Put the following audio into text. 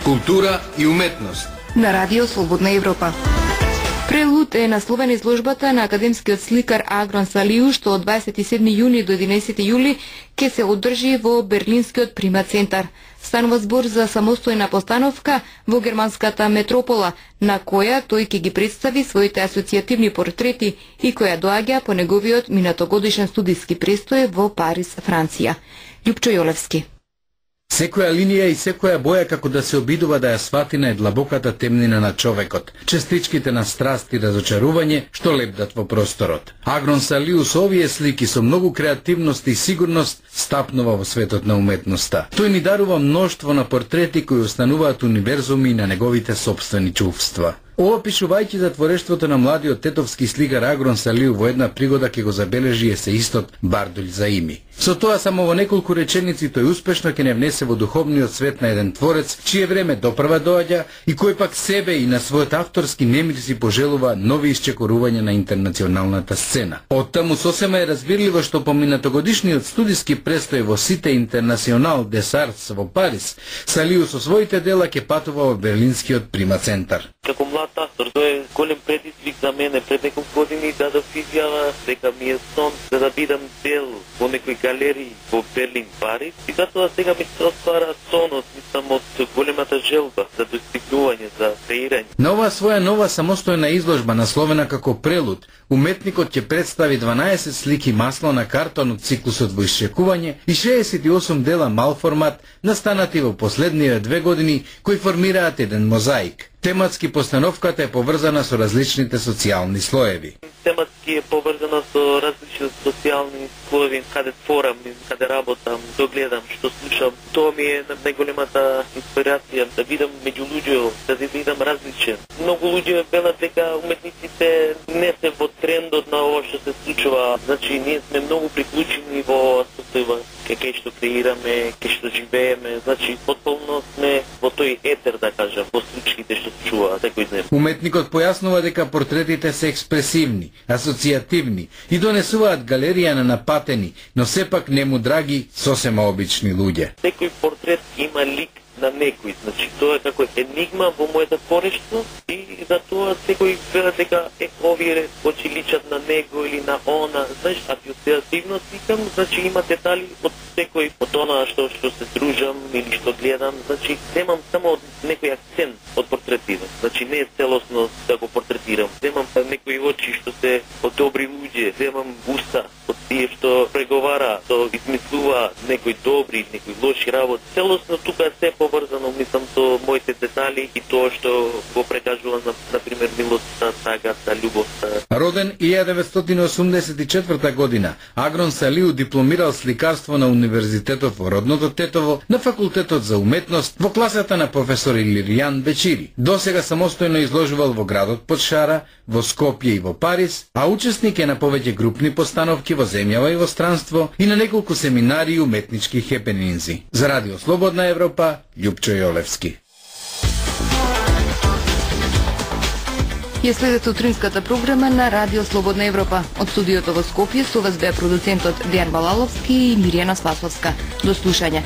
Култура и уметност на Радио Слободна Европа. Прелуд е насловен изложбата на академскиот сликар Агрон Салиу, што од 27 јуни до 11 јули ќе се одржи во Берлинскиот Прима центар. Станува збор за самостојна постановка во германската метропола, на која тој ќе ги представи своите асоцијативни портрети и која доаѓа по неговиот минатогодишен студиски престој во Париз, Франција. Љупчо Јолевски. Секоја линија и секоја боја како да се обидува да ја свати на длабоката темнина на човекот, честичките на страст и разочарување што лепдат во просторот. Агрон Салиу со овие слики со многу креативност и сигурност стапнува во светот на уметноста. Тој ни дарува мноштво на портрети кои остануваат универзуми на неговите сопствени чувства. Опишувајќи за творештвото на младиот тетовски сликар Агрон Салиу во една пригода ќе го забележи есеистот Бардулј Заими. Со тоа само во неколку реченици тој успешно ќе не внесе во духовниот свет на еден творец, чие време допрва доаѓа и кој пак себе и на својот авторски немир си пожелува нови исчекорувања на интернационалната сцена. Оттаму сосема е разбирливо што по минатогодишниот студиски престој во Сите Интернационал des Arts во Париз, Салиу со своите дела ќе патува во Берлинскиот Прима центар. Како млад автор, тој е голем предизвик за мене. Пред неколку години дадов изјава дека ми е сон да бидам дел во некои галерии во Берлин, Париз. И затоа сега ми се оствара сонот, мислам, од големата желба за достигнување, за креирање. На оваа своја нова самостојна изложба, насловена како Прелуд, уметникот ќе представи 12 слики масло на картон од циклусот во исчекување и 68 дела малформат, настанати во последниве 2 години, кои формираат еден мозаик. Тематски постановката е поврзана со различните социјални слоеви. Тематски е поврзана со различни социјални слоеви, каде творам, каде работам, што гледам, што слушам. Тоа ми е најголемата инспирација, да видам меѓу луѓе, да видам различен. Многу луѓе велат дека уметниците не се во трендот на ова што се случува. Значи, ние сме многу приклучени во состојба кај што креираме, кај што живееме. Значи, потполно сме во тој етер, да кажам, во случаите што се чува секој ден. Уметникот појаснува дека портретите се експресивни, асоцијативни и донесуваат галерија на напатени, но сепак нему драги, сосема обични луѓе. Секој портрет има лик на некој, значи тоа е како енигма во моето творештво и затоа секој вела дека овие очи личат на него или на она, знаеш, асоцијативно викам, значи има детали од секој од она што се дружам или што гледам, значи земам само од некој акцент од портретите, значи не е целосно да го портретирам, земам некои очи што се од добри луѓе, земам уста од тие што преговара, што измислува некои добри, некои лоши работи, целосно тука е се поврзано, мислам, со моите детали и тоа што го прекажува, например, милоста, сагата, љубовта. Роден 1984 година, Агрон Салиу дипломирал сликарство на Универзитетот во родното Тетово, на Факултетот за уметност, во класата на професор Илиријан Бечири. Досега самостојно изложувал во градот Подшара, во Скопје и во Париз, а учесник е на повеќе групни постановки во земјава и во странство и на неколку семинари и уметнички хепенинзи. За Радио Слободна Европа, Љупчо Јолевски. Ја следете утринската програма на Радио Слободна Европа. Од студиото во Скопје со вас беа продуцентот Дејан Балаловски и Миријана Спасовска. До слушање.